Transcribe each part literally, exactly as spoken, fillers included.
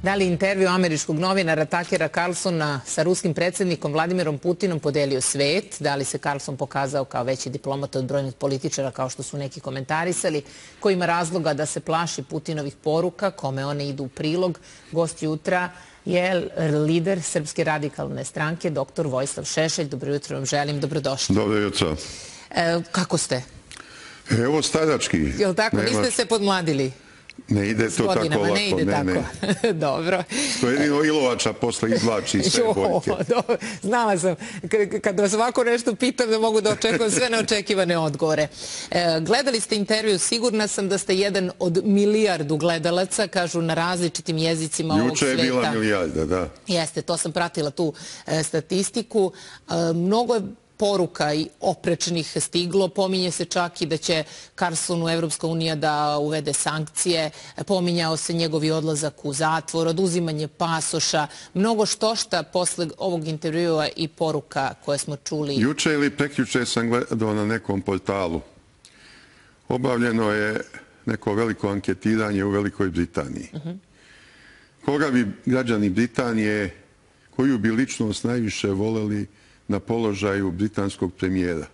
Da li intervju američkog novinara Takera Carlsona sa ruskim predsjednikom Vladimirom Putinom podelio svet? Da li se Carlson pokazao kao veći diplomat od brojnih političara, kao što su neki komentarisali? Ko ima razloga da se plaši Putinovih poruka, kome one idu u prilog? Gost jutra je lider Srpske radikalne stranke, doktor Vojislav Šešelj. Dobro jutro vam želim, dobrodošli. Dobro jutro. E, kako ste? Evo starački. Jel tako? Niste se podmladili? Ne ide to tako lako. Ne ide tako. Dobro. To jedino Ilovača posle izvlači sve boljke. Znala sam. Kad vas ovako nešto pitam da mogu da očekujem sve neočekivane odgovore. Gledali ste intervju, sigurna sam da ste jedan od milijardu gledalaca, kažu na različitim jezicima ovog sveta. Juče je bila milijarda, da. Jeste, to sam pratila tu statistiku. Mnogo je poruka i oprečnih stiglo. Pominje se čak i da će Carlsonu Evropska unija da uvede sankcije. Pominjao se njegovi odlazak u zatvor, oduzimanje pasoša. Mnogo štošta posle ovog intervjua i poruka koje smo čuli. Juče ili prekjuče sam gledao na nekom portalu. Obavljeno je neko veliko anketiranje u Velikoj Britaniji. Koga bi građani Britanije, koju bi ličnost najviše voleli na položaju britanskog premijera?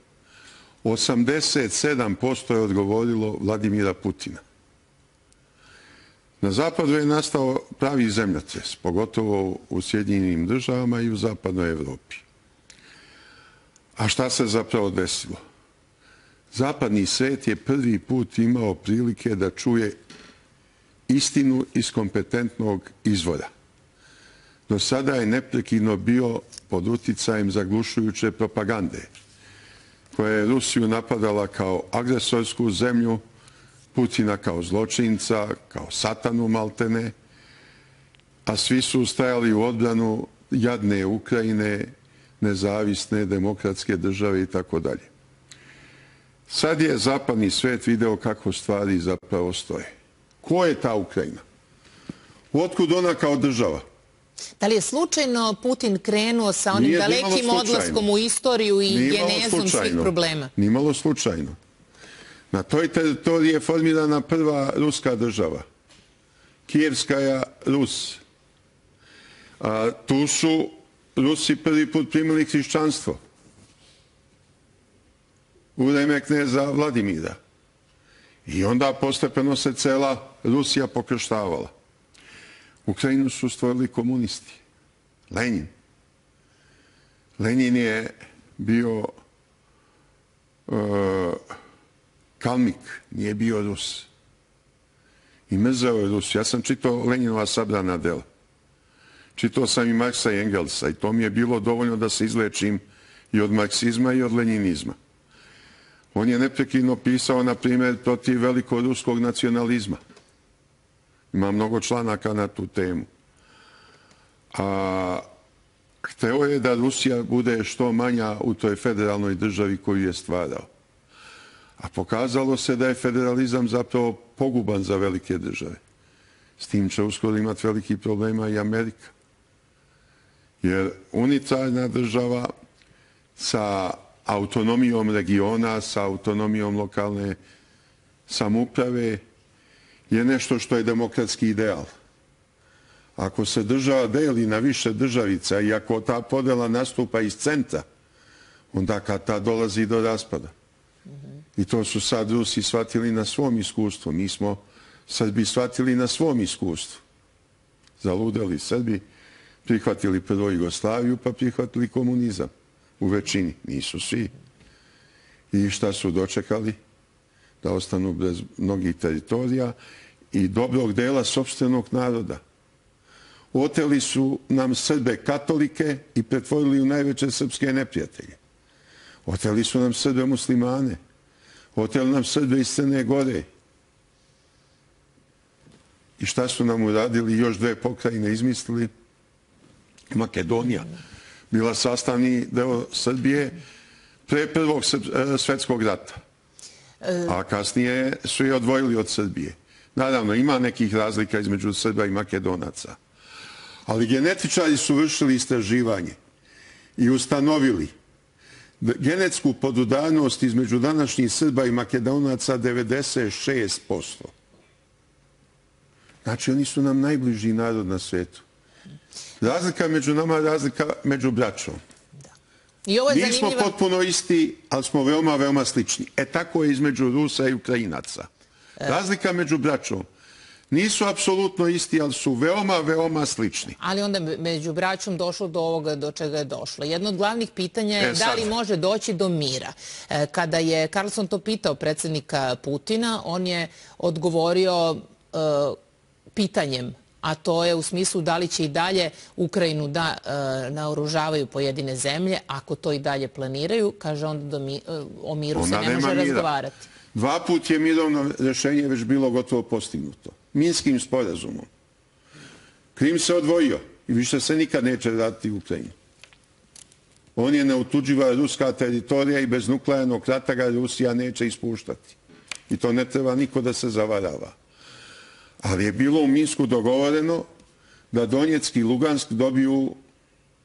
osamdeset sedam posto je odgovorilo Vladimira Putina. Na zapadu je nastao pravi zemljotres, pogotovo u Sjedinjenim državama i u zapadnoj Evropi. A šta se zapravo desilo? Zapadni svet je prvi put imao prilike da čuje istinu iz kompetentnog izvora. Do sada je neprekidno bio pod uticajem zaglušujuće propagande, koja je Rusiju napadala kao agresorsku zemlju, Putina kao zločinca, kao satanu maltene, a svi su stajali u odbranu jadne Ukrajine, nezavisne demokratske države i tako dalje. Sad je zapadni svet video kako stvari zapravo stoje. Ko je ta Ukrajina? Otkud ona kao država? Da li je slučajno Putin krenuo sa onim dalekim odlaskom u istoriju i genezom svih problema? Nimalo slučajno. Na toj teritoriji je formirana prva ruska država. Kijevskaja Rus. Tu su Rusi prvi put primili hrišćanstvo. U vreme kneza Vladimira. I onda postepeno se cela Rusija pokrštavala. Ukrajinu su stvorili komunisti. Lenin. Lenin je bio kalmik, nije bio Rus. I mrzeo je Rus. Ja sam čitao Leninova sabrana dela. Čitao sam i Marksa i Engelsa i to mi je bilo dovoljno da se izlečim i od marksizma i od leninizma. On je neprekidno pisao, na primjer, protiv velikoruskog nacionalizma. Ima mnogo članaka na tu temu. A hteo je da Rusija bude što manja u toj federalnoj državi koju je stvarao. A pokazalo se da je federalizam zapravo poguban za velike države. S tim će uskoro imati veliki problema i Amerika. Jer unitarna država sa autonomijom regiona, sa autonomijom lokalne samouprave je nešto što je demokratski ideal. Ako se država deli na više državica i ako ta podela nastupa iz centra, onda kad ta dolazi do raspada. I to su sad Rusi shvatili na svom iskustvu. Mi smo Srbi shvatili na svom iskustvu. Zaludeli Srbi, prihvatili prvo Jugoslaviju, pa prihvatili komunizam. U većini, nisu svi. I šta su dočekali? Da ostanu bez mnogih teritorija i dobrog dela sopstvenog naroda. Oteli su nam Srbe katolike i pretvorili u najveće srpske neprijatelje. Oteli su nam Srbe muslimane. Oteli nam Srbe iz Crne Gore. I šta su nam uradili? Još dve pokrajine izmislili. Makedonija bila sastavni deo Srbije pre Prvog svjetskog rata. A kasnije su je odvojili od Srbije. Naravno, ima nekih razlika između Srba i Makedonaca. Ali genetičari su vršili istraživanje i ustanovili genetsku podudarnost između današnjih Srba i Makedonaca devedeset šest posto. Znači, oni su nam najbliži narod na svijetu. Razlika među nama je razlika među braćom. I ovo je Nismo zanimljiva... potpuno isti, ali smo veoma, veoma slični. E tako je između Rusa i Ukrajinaca. Razlika među braćom. Nisu apsolutno isti, ali su veoma, veoma slični. Ali onda među braćom došlo do ovoga do čega je došlo. Jedno od glavnih pitanja je da li može doći do mira. Kada je Carlson to pitao predsjednika Putina, on je odgovorio pitanjem, a to je u smislu da li će i dalje Ukrajinu da naoružavaju pojedine zemlje. Ako to i dalje planiraju, kaže onda o miru se ne može razgovarati. Dva put je mirovno rješenje već bilo gotovo postignuto. Minskim sporazumom. Krim se odvojio i više se nikad neće vratiti u Ukrajinu. On je neotuđiva ruska teritorija i bez nuklearnog rata ga Rusija neće ispuštati. I to ne treba niko da se zavarava. Ali je bilo u Minsku dogovoreno da Donjeck i Lugansk dobiju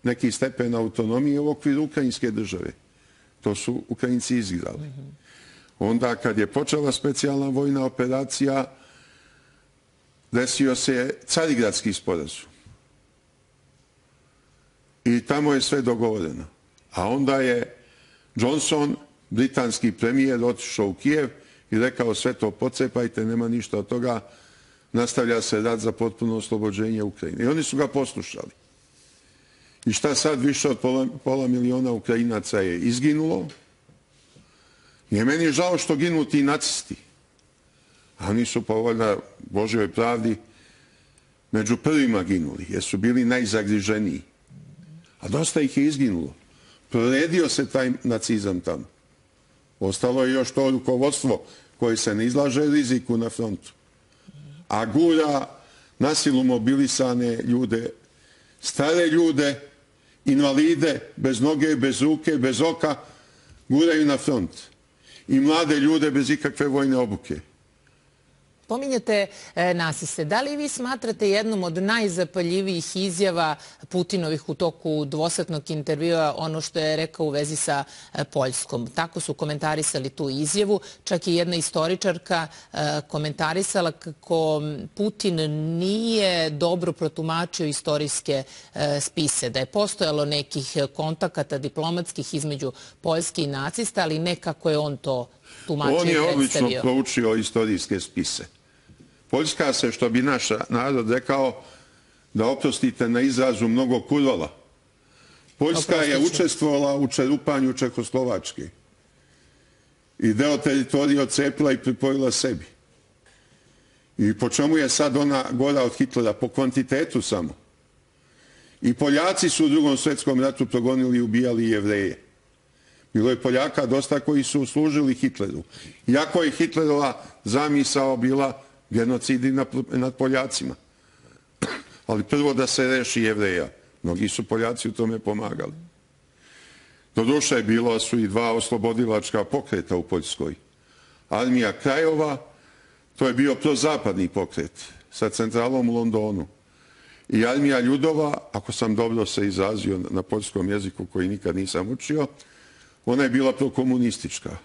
neki stepen autonomije u okviru ukrajinske države. To su Ukrajinci izigrali. Onda kad je počela specijalna vojna operacija, desio se Carigradski sporazum. I tamo je sve dogovoreno. A onda je Johnson, britanski premijer, otišao u Kijev i rekao sve to pocepajte, nema ništa od toga, nastavlja se rat za potpuno oslobođenje Ukrajine. I oni su ga poslušali. I šta sad, više od pola, pola miliona Ukrajinaca je izginulo. I je meni žao što ginu ti nacisti. A oni su po valjda Božjoj pravdi među prvima ginuli, jer su bili najzagriženiji. A dosta ih je izginulo. Proredio se taj nacizam tamo. Ostalo je još to rukovodstvo koje se ne izlaže riziku na frontu. A gura nasilu mobilisane ljude, stare ljude, invalide, bez noge, bez ruke, bez oka, guraju na front. I mlade ljude bez ikakve vojne obuke. Pominjete nasiste. Da li vi smatrate jednom od najzapaljivijih izjava Putinovih u toku dvosatnog intervjua ono što je rekao u vezi sa Poljskom? Tako su komentarisali tu izjavu. Čak i jedna istoričarka komentarisala kako Putin nije dobro protumačio istorijske spise, da je postojalo nekih kontakata diplomatskih između Poljske i nacista, ali ne kako je on to tumačio i predstavio. On je odlično proučio istorijske spise. Poljska se, što bi naš narod rekao, da oprostite na izrazu, mnogo kurvala. Poljska je učestvovala u čerupanju Čehoslovačke i deo teritorije odcepila i pripojila sebi. I po čemu je sad ona gora od Hitlera? Po kvantitetu samo. I Poljaci su u Drugom svjetskom ratu progonili i ubijali Jevreje. Bilo je Poljaka dosta koji su služili Hitleru. Iako je Hitlerova zamisao bila genocidi nad Poljacima. Ali prvo da se reši Jevreja. Mnogi su Poljaci u tome pomagali. Doduše, bilo su i dva oslobodilačka pokreta u Poljskoj. Armija Krajova, to je bio prozapadni pokret sa centralom u Londonu. I Armija Ljudova, ako sam dobro se izrazio na poljskom jeziku koji nikad nisam učio, ona je bila prokomunistička.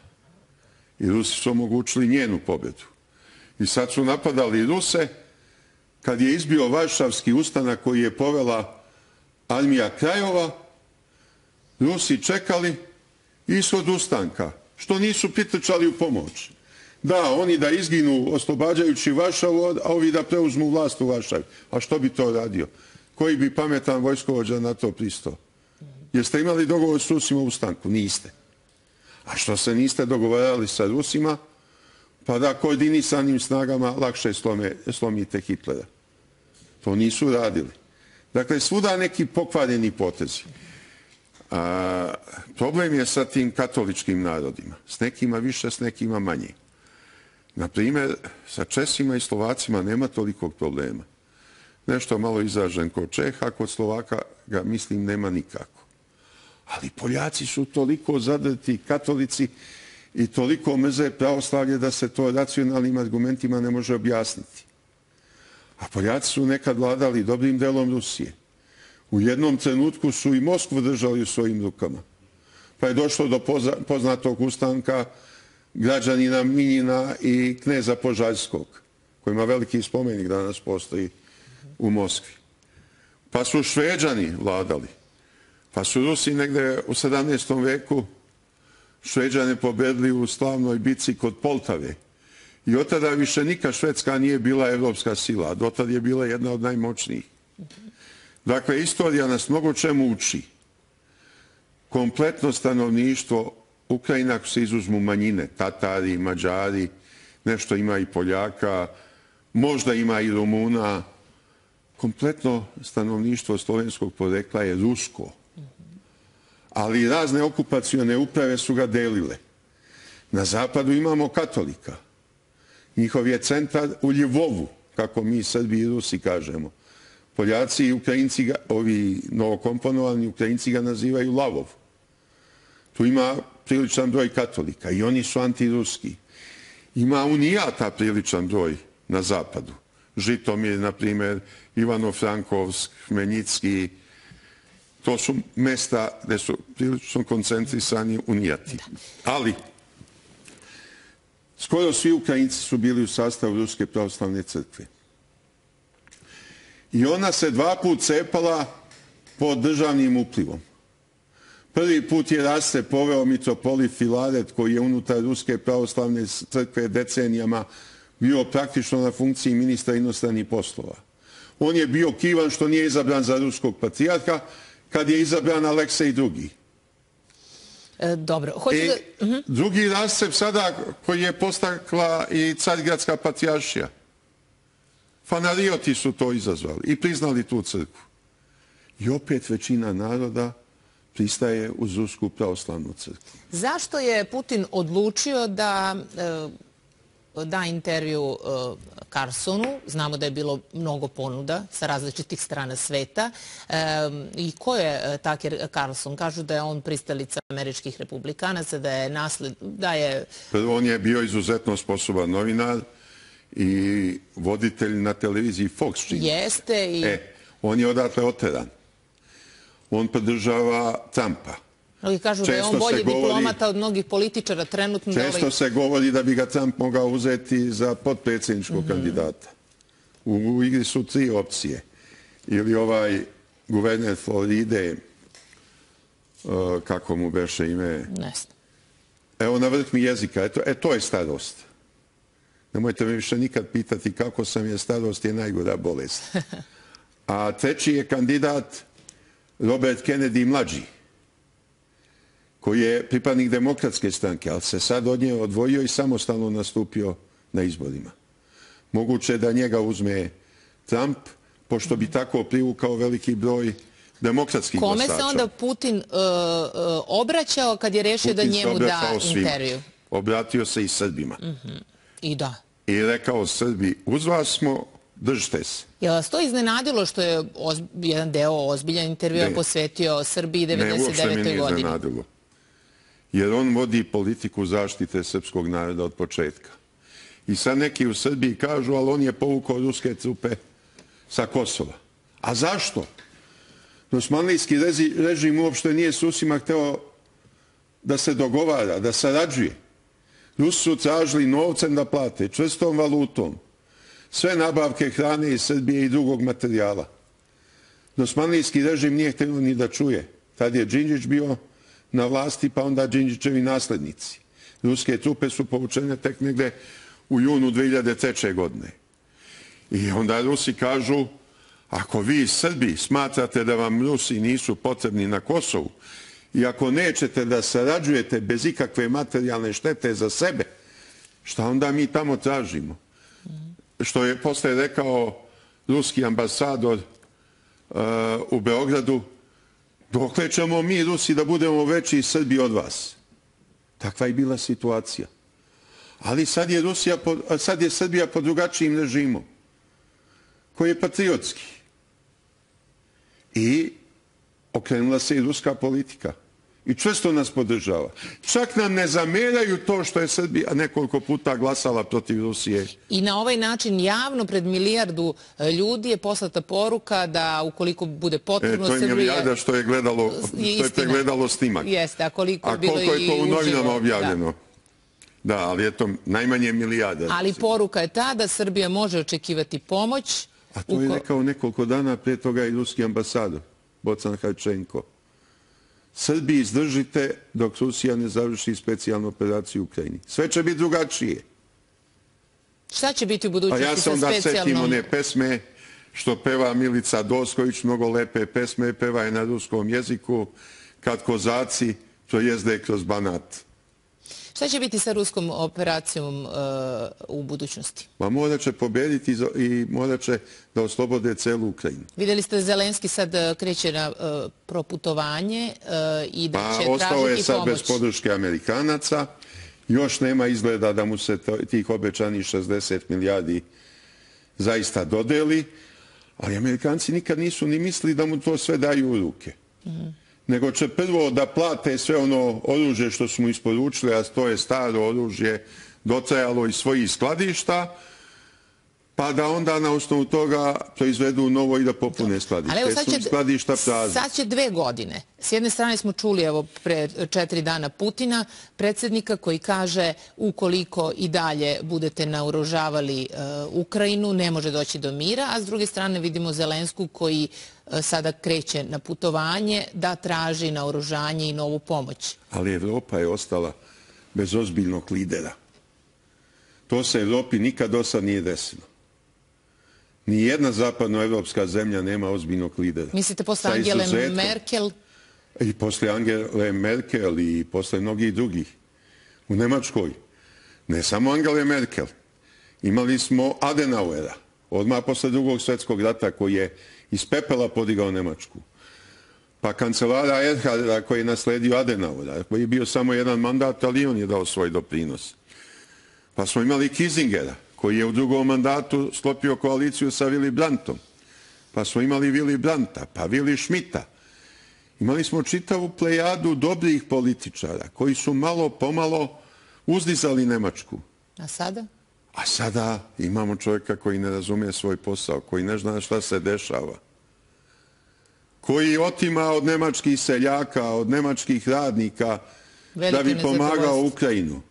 I Rusi su omogućili njenu pobjedu. I sad su napadali Ruse kad je izbio Varšavski ustanak koji je povela Armija Krajova. Rusi čekali ishod ustanka, što nisu pritrčali u pomoć. Da, oni da izginu oslobađajući Varšavu, a ovi da preuzmu vlast u Varšavi. A što bi to radio? Koji bi pametan vojskovođa na to pristao? Jeste imali dogovor s Rusima u ustanku? Niste. A što se niste dogovarali sa Rusima? Pa da koordinisanim snagama lakše slome, slomite Hitlera. To nisu radili. Dakle, svuda neki pokvareni potezi. A, problem je sa tim katoličkim narodima. S nekima više, s nekima manje. Naprimjer, sa Česima i Slovacima nema tolikog problema. Nešto malo izražen kod Čeha, kod Slovaka ga, mislim, nema nikako. Ali Poljaci su toliko zadrti katolici i toliko mrze pravoslavlje da se to racionalnim argumentima ne može objasniti. A Poljaci su nekad vladali dobrim delom Rusije. U jednom trenutku su i Moskvu držali u svojim rukama. Pa je došlo do poznatog ustanka građanina Minjina i kneza Požarskog. koji ima veliki spomenik danas postoji u Moskvi. Pa su Šveđani vladali. Pa su Rusi negde u sedamnaestom veku Šveđane pobedili u slavnoj bici kod Poltave. I od tada više nikad Švedska nije bila evropska sila. Do tada je bila jedna od najmoćnijih. Dakle, istorija nas mnogo čemu uči. Kompletno stanovništvo Ukrajine, ako se izuzmu manjine, Tatari, Mađari, nešto ima i Poljaka, možda ima i Rumuna, kompletno stanovništvo slovenskog porekla je rusko. Ali razne okupacione uprave su ga delile. Na zapadu imamo katolika. Njihov je centar u Ljivovu, kako mi Srbi i Rusi kažemo. Poljaci i Ukrajinci, ga, ovi novokomponovani Ukrajinci ga nazivaju Lavov. Tu ima priličan broj katolika i oni su antiruski. Ima unijata priličan broj na zapadu. Žitomir, na primjer, Ivano-Frankovsk, Hmeljicki. To su mesta gde su prilično koncentrisani unijati. Ali, skoro svi Ukrajinci su bili u sastavu Ruske pravoslavne crkve. I ona se dva put cepala pod državnim uplivom. Prvi put je raste poveo mitropolit Filaret, koji je unutar Ruske pravoslavne crkve decenijama bio praktično na funkciji ministra inostranih poslova. On je bio kivan što nije izabran za ruskog patrijarha, kad je izabran Aleksej drugi. E, dobro. Hoću I da... uh-huh. drugi rascep sada koji je postakla i Carigradska patrijaršija. Fanarioti su to izazvali i priznali tu crkvu. I opet većina naroda pristaje uz Rusku pravoslavnu crkvu. Zašto je Putin odlučio da e, da intervju e, Carlsonu? Znamo da je bilo mnogo ponuda sa različitih strana sveta. E, I ko je Tucker Carlson? Kažu da je on pristalica američkih republikanaca, da je nasled... Da je... Prvo, on je bio izuzetno sposoban novinar i voditelj na televiziji Fox. Čini. Jeste i... E, on je odatle oteran. On podržava Trumpa. Mnogi kažu da je on bolji diplomata od mnogih političara trenutno. Često se govori da bi ga Trump mogao uzeti za potpredsjedničkog kandidata. U igri su tri opcije. Ili ovaj guverner Floride, kako mu beše ime? Ne znam. Evo, na vrh mi jezika. E, to je starost. Nemojte me više nikad pitati kako sam, jer starost je najgora bolest. A treći je kandidat Robert Kennedy mlađi, koji je pripadnik demokratske stranke, ali se sad od nje odvojio i samostalno nastupio na izborima. Moguće da njega uzme Trump, pošto bi tako privukao veliki broj demokratskih glasača. Kome se onda Putin uh, uh, obraćao kad je rešio da njemu da intervju? Obratio se i Srbima. Uh-huh. I da. I rekao Srbi, uz vas smo, držite se. Je li vas to iznenadilo što je ozb... jedan deo ozbiljan intervjua posvetio Srbiji devedeset devete. godine? Ne, uopšte me nije iznenadilo. Jer on vodi politiku zaštite srpskog naroda od početka. I sad neki u Srbiji kažu, ali on je povukao ruske trupe sa Kosova. A zašto? Osmanlijski režim uopšte nije s Rusima hteo da se dogovara, da sarađuje. Rusi su tražili novcem da plate, čvrstom valutom, sve nabavke hrane iz Srbije i drugog materijala. Osmanlijski režim nije htio ni da čuje. Tad je Đinđić bio na vlasti, pa onda Đinđićevi naslednici. Ruske trupe su povučene tek negde u junu dve hiljade treće. godine. I onda Rusi kažu, ako vi Srbi smatrate da vam Rusi nisu potrebni na Kosovu i ako nećete da sarađujete bez ikakve materijalne štete za sebe, šta onda mi tamo tražimo? Što je posle rekao ruski ambasador uh, u Beogradu, dokle ćemo mi Rusi da budemo veći i Srbi od vas? Takva je bila situacija. Ali sad je, Rusija, sad je Srbija pod drugačijim režimom, koji je patriotski. I okrenula se i ruska politika. I često nas podržava. Čak nam ne zameraju to što je Srbija nekoliko puta glasala protiv Rusije. I na ovaj način javno pred milijardu ljudi je poslata poruka da ukoliko bude potrebno Srbija... E, to je milijarda što je gledalo, što je pregledalo snimak. Jeste, a koliko, a koliko je to u novinama objavljeno? Da, ali je to najmanje milijarda. Ali poruka je ta da Srbija može očekivati pomoć. A to je rekao nekoliko dana prije toga i ruski ambasador, Bocan Hajčenko. Srbiji izdržite dok Rusija ne završi specijalnu operaciju u Ukrajini. Sve će biti drugačije. Šta će biti u budućnosti sa specijalnom? A ja sam da setim one pesme što peva Milica Dosković, mnogo lepe pesme, peva je na ruskom jeziku, kad kozaci projezde kroz Banat. Šta će biti sa ruskom operacijom uh, u budućnosti? Ma morat će pobediti i morat će da oslobode celu Ukrajinu. Vidjeli ste da Zelenski sad kreće na uh, proputovanje uh, i da pa, će tražiti pomoć. Ostao je sad bez podrške Amerikanaca. Još nema izgleda da mu se tih obećanih šezdeset milijardi zaista dodeli, ali Amerikanci nikad nisu ni mislili da mu to sve daju u ruke. Mm-hmm. Nego će prvo da plate sve ono oružje što su mu isporučili, a to je staro oružje, dotrajalo iz svojih skladišta, pa da onda na osnovu toga proizvedu novo i da popune skladište. Ali evo sad će, skladišta prazne. Sad će dve godine. S jedne strane smo čuli evo pre četiri dana Putina, predsjednika koji kaže ukoliko i dalje budete naoružavali uh, Ukrajinu, ne može doći do mira, a s druge strane vidimo Zelensku koji uh, sada kreće na putovanje da traži naoružanje i novu pomoć. Ali Evropa je ostala bez ozbiljnog lidera. To se Evropi nikad do sad nije desilo. Nijedna zapadnoevropska zemlja nema ozbiljnog lidera. Mislite posle Angele Merkel? I posle Angele Merkel i posle mnogih drugih. U Nemačkoj. Ne samo Angele Merkel. Imali smo Adenauera. Odmah posle drugog svjetskog rata koji je iz pepela podigao Nemačku. Pa kancelara Erharda koji je nasledio Adenauera. Koji je bio samo jedan mandat, ali on je dao svoj doprinos. Pa smo imali Kissingera, koji je u drugom mandatu sklopio koaliciju sa Willy Brandtom. Pa smo imali Willy Brandta, pa Willy Schmidta. Imali smo čitavu plejadu dobrih političara koji su malo pomalo uzdizali Nemačku. A sada? A sada imamo čovjeka koji ne razume svoj posao, koji ne zna šta se dešava. Koji otima od nemačkih seljaka, od nemačkih radnika da bi pomagao Ukrajinu.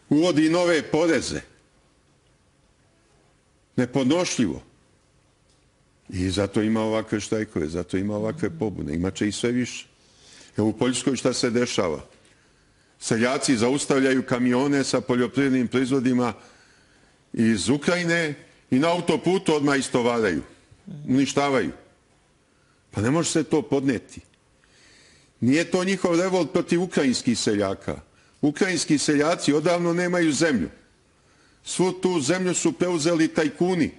Uvodi nove poreze. Nepodnošljivo. I zato ima ovakve štrajkove, zato ima ovakve pobune. Imaće i sve više. Evo u Poljskoj šta se dešava? Seljaci zaustavljaju kamione sa poljoprivrednim proizvodima iz Ukrajine i na autoputu odmah istovaraju. Uništavaju. Pa ne može se to podneti. Nije to njihov revolt protiv ukrajinskih seljaka. Ukrajinski seljaci odavno nemaju zemlju. Svu tu zemlju su preuzeli tajkuni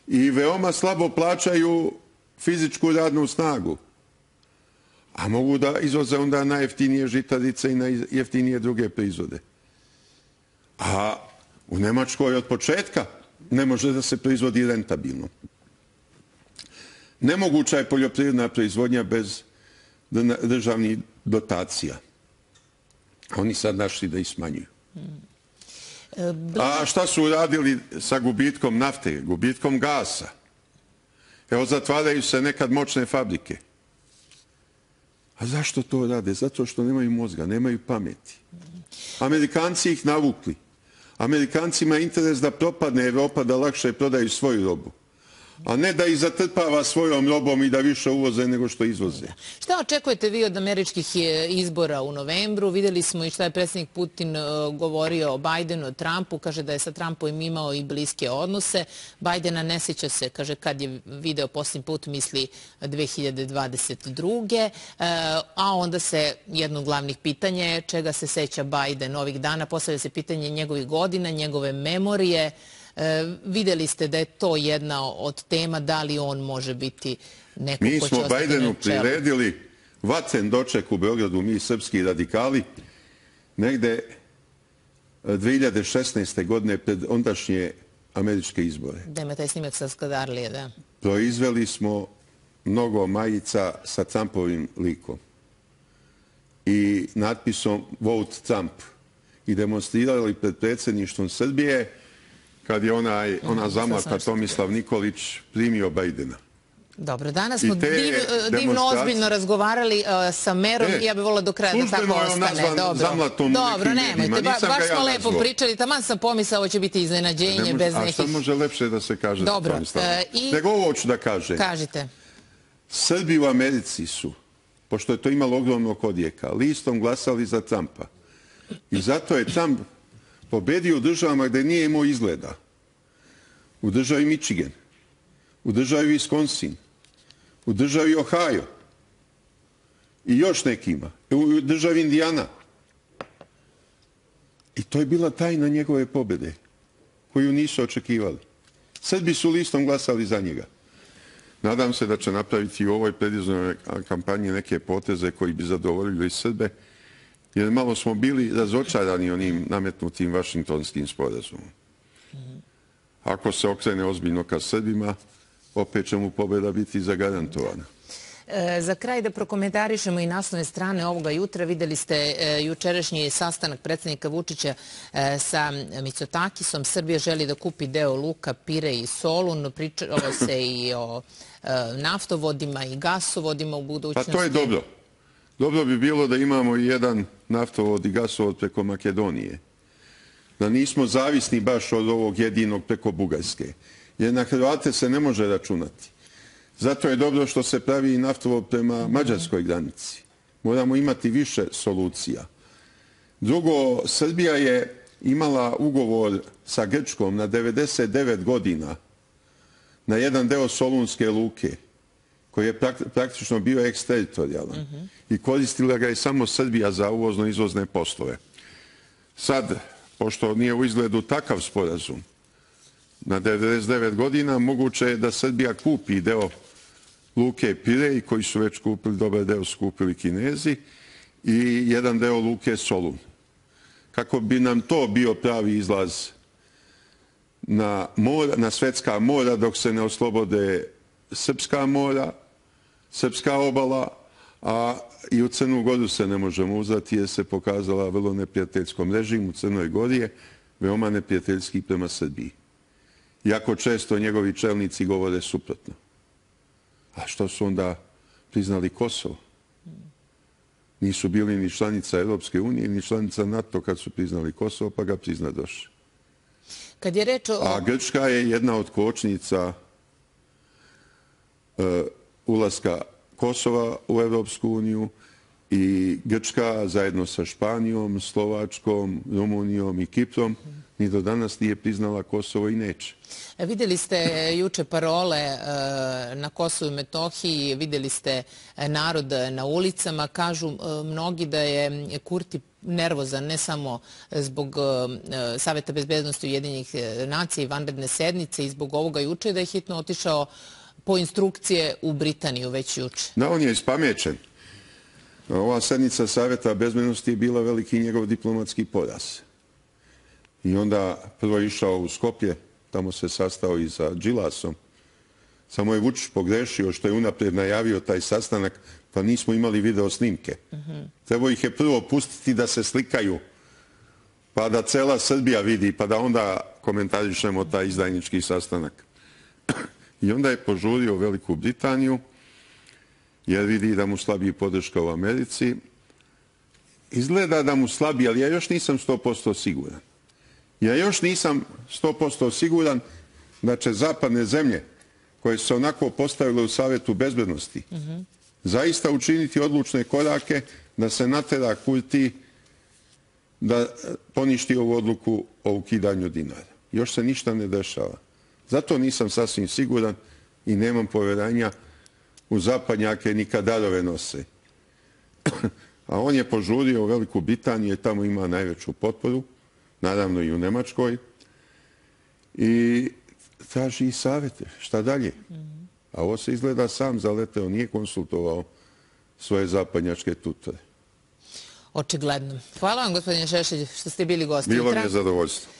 i veoma slabo plaćaju fizičku radnu snagu. A mogu da izvoze onda najjeftinije žitarice i najjeftinije druge proizvode. A u Nemačkoj od početka ne može da se proizvodi rentabilno. Nemoguća je poljoprivredna proizvodnja bez državnih dotacija. Oni sad našli da ih smanjuju. A šta su uradili sa gubitkom nafte, gubitkom gasa? Evo, zatvaraju se nekad moćne fabrike. A zašto to rade? Zato što nemaju mozga, nemaju pameti. Amerikanci ih navukli. Amerikancima je interes da propadne Evropa, da lakše prodaju svoju robu. A ne da ih zatrpava svojom robom i da više uvoze nego što izvoze. Šta očekujete vi od američkih izbora u novembru? Vidjeli smo i šta je predsjednik Putin govorio o Bajdenu, o Trumpu. Kaže da je sa Trumpom imao i bliske odnose. Bajdena ne sjeća se, kaže kad je video posljednji put, misli dve hiljade dvadeset druge. A onda se jedno od glavnih pitanja je čega se seća Bajden ovih dana. Postavlja se pitanje njegovih godina, njegove memorije. E, vidjeli ste da je to jedna od tema, da li on može biti neko mi ko će ostati na čelu. Mi smo Bajdenu priredili vatren doček u Beogradu, mi srpski radikali, negde dve hiljade šesnaeste. godine pred ondašnje američke izbore. Da ima taj snimak sa Skadarlije, da. Proizveli smo mnogo majica sa Trumpovim likom i natpisom Vote Trump i demonstrirali pred predsjedništvom Srbije kad je onaj, ona zamlata Tomislav Nikolić primio Bajdena. Dobro, danas smo divno ozbiljno razgovarali sa merom i ja bih volila do kraja da tako ostane. Dobro, nemojte, baš smo lepo pričali, taman sam pomisao, ovo će biti iznenađenje bez nekih... A šta može lepše da se kaže? Dobro. Nego ovo ću da kažem. Kažite. Srbi u Americi su, pošto je to imalo ogromnog odjeka, listom glasali za Trumpa. I zato je Trump pobedio u državama gde nije imao izgleda. U državi Michigan, u državi Wisconsin, u državi Ohio i još nekima, u državi Indijana. I to je bila tajna njegove pobede, koju nisu očekivali. Srbi su listom glasali za njega. Nadam se da će napraviti u ovoj predizbornoj kampanji neke poteze koji bi zadovoljili Srbe, jer malo smo bili razočarani onim nametnutim vašingtonskim sporazumom. Ako se okrene ozbiljno ka Srbima, opet će mu pobjeda biti zagarantovana. Za kraj da prokomentarišemo i naslovne strane ovoga jutra. Videli ste jučerašnji sastanak predsjednika Vučića sa Mitsotakisom. Srbija želi da kupi deo luka Pire i Solun. Pričalo se i o naftovodima i gasovodima u budućnosti. Pa to je dobro. Dobro bi bilo da imamo i jedan naftovod i gasovod preko Makedonije. Da nismo zavisni baš od ovog jedinog preko Bugarske. Jer na Hrvate se ne može računati. Zato je dobro što se pravi i naftovod prema mađarskoj granici. Moramo imati više solucija. Drugo, Srbija je imala ugovor sa Grčkom na devedeset devet godina na jedan deo Solunske luke, koji je praktično bio eksteritorijalan. I koristila ga je samo Srbija za uvozno-izvozne poslove. Sad, pošto nije u izgledu takav sporazum, na devedeset devet godina moguće je da Srbija kupi deo luke Pirej, koji su već kupili, dobar deo su kupili Kinezi, i jedan deo luke Solun. Kako bi nam to bio pravi izlaz na, mora, na svetska mora dok se ne oslobode srpska mora, srpska obala, a i u Crnu Goru se ne možemo uzeti jer se pokazala vrlo neprijateljskom režimu. U Crnoj Gori je veoma neprijateljski prema Srbiji. Iako često njegovi čelnici govore suprotno. A što su onda priznali Kosovo? Nisu bili ni članica Europske unije, ni članica NATO kad su priznali Kosovo, pa ga priznadoše. Kad je reč o... A Grčka je jedna od kočnica uh, ulaska Kosova u Europsku uniju i Grčka zajedno sa Španijom, Slovačkom, Rumunijom i Kiprom ni do danas nije priznala Kosovo i neće. Vidjeli ste juče parole na Kosovu i Metohiji, vidjeli ste narod na ulicama. Kažu mnogi da je Kurti nervozan ne samo zbog Saveta bezbednosti Ujedinjenih nacija i vanredne sednice i zbog ovoga juče, da je hitno otišao po instrukcije u Britaniju već juče. Da, on je ispamećen. Ova sednica Saveta bezbednosti je bila veliki njegov diplomatski poraz. I onda prvo je išao u Skopje, tamo se sastao i sa Đilasom. Samo je Vučić pogrešio što je unaprijed najavio taj sastanak, pa nismo imali video snimke. Trebao ih je prvo pustiti da se slikaju, pa da cela Srbija vidi, pa da onda komentarišemo taj izdajnički sastanak. I onda je požurio Veliku Britaniju, jer vidi da mu slabi podrška u Americi. Izgleda da mu slabi, ali ja još nisam sto posto siguran. Ja još nisam sto posto siguran da će zapadne zemlje, koje su se onako postavile u Savetu bezbednosti, zaista učiniti odlučne korake da se natera Kurti da poništi ovu odluku o ukidanju dinara. Još se ništa ne dešava. Zato nisam sasvim siguran i nemam poverenja u zapadnjake ni kad darove nose. A on je požurio u Veliku Britaniju, jer tamo ima najveću potporu, naravno i u Nemačkoj, i traži i savete. Šta dalje? A ovo se izgleda sam zaleteo, nije konsultovao svoje zapadnjačke tutore. Očigledno. Hvala vam, gospodine Šešelj, što ste bili gosti. Bilo mi je zadovoljstvo.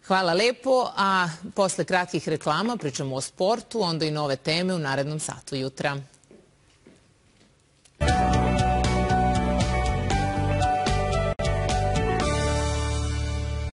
Hvala lepo, a posle kratkih reklama pričamo o sportu, onda i nove teme u narednom satu jutra.